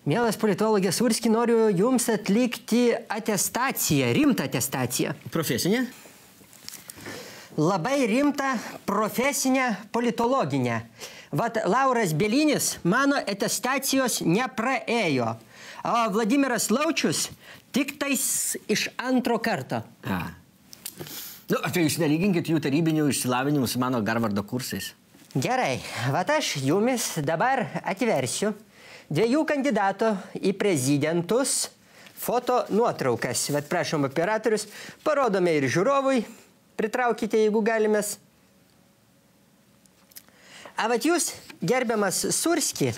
Mielas politologė Surski, noriu jums atlikti atestaciją, rimtą atestaciją. Profesinę? Labai rimtą profesinę politologinę. Vat Lauras Bielinis mano atestacijos nepraėjo, o Vladimiras Laučius tik tais iš antro karto. Nu, tai jūs nelyginkit jų tarybinių išsilavinimų su mano Harvardo kursais. Gerai, vat aš jumis dabar atversiu dviejų kandidatų į prezidentus foto nuotraukas. Vat prašom operatorius, parodome ir žiūrovui, pritraukite, jeigu galimės. A vat jūs, gerbiamas Surski,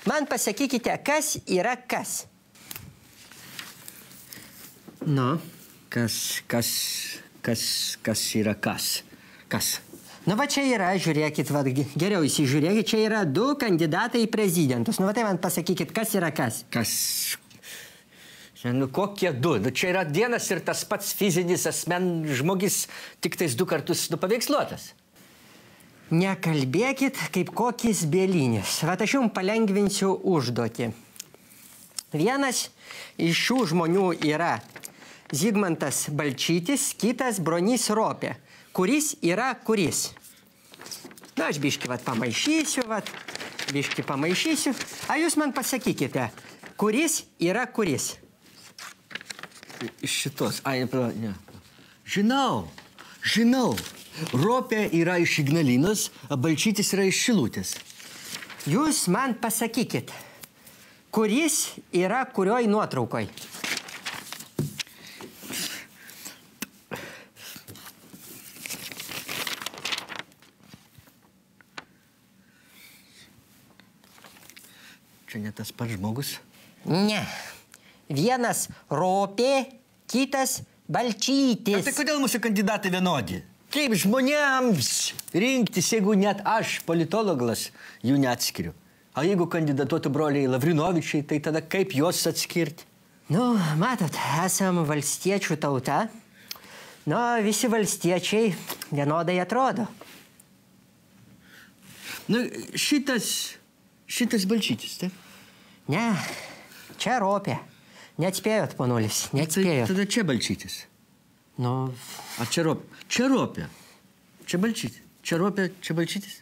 man pasakykite, kas yra kas. Nu? Kas yra kas? Kas? Nu, va čia yra, žiūrėkit, va, geriau įsižiūrėkit, čia yra du kandidatai į prezidentus. Nu, va tai man pasakykit, kas yra kas. Kas? Nu, kokie du? Nu, čia yra vienas ir tas pats fizinis žmogis, tik tais 2 kartus paveiksluotas. Nekalbėkit kaip kokis Bielinis. Va, aš jums palengvinsiu užduotį. Vienas iš šių žmonių yra Zigmantas Balčytis, kitas Bronys Ropė. Kuris yra kuris? Na, aš biškį pamaišysiu, biškį pamaišysiu. A jūs man pasakykite, kuris yra kuris? Iš šitos. Ne. Žinau. Ropė yra iš Ignalinos, o Balčytis yra iš Šilutės. Jūs man pasakykit, kuris yra kurioj nuotraukoj? Čia ne tas pats žmogus? Ne. Vienas Ropė, kitas Balčytis. Tai kodėl mūsų kandidatai vienodi? Kaip žmonėms rinktis, jeigu net aš, politologas, jų neatskiriu? O jeigu kandidatuotų broliai Lavrinovičiai, tai tada kaip juos atskirti? Nu, matot, esam valstiečių tauta. Nu, visi valstiečiai vienodai atrodo. Nu, šitas Balčytis, taip? Ne, čia Ropė. Neatspėjot, ponulis, neatspėjot. Tada čia Balčytis. Nu... A čia Ropė. Čia Ropė. Čia Balčytis. Čia Ropė, čia Balčytis.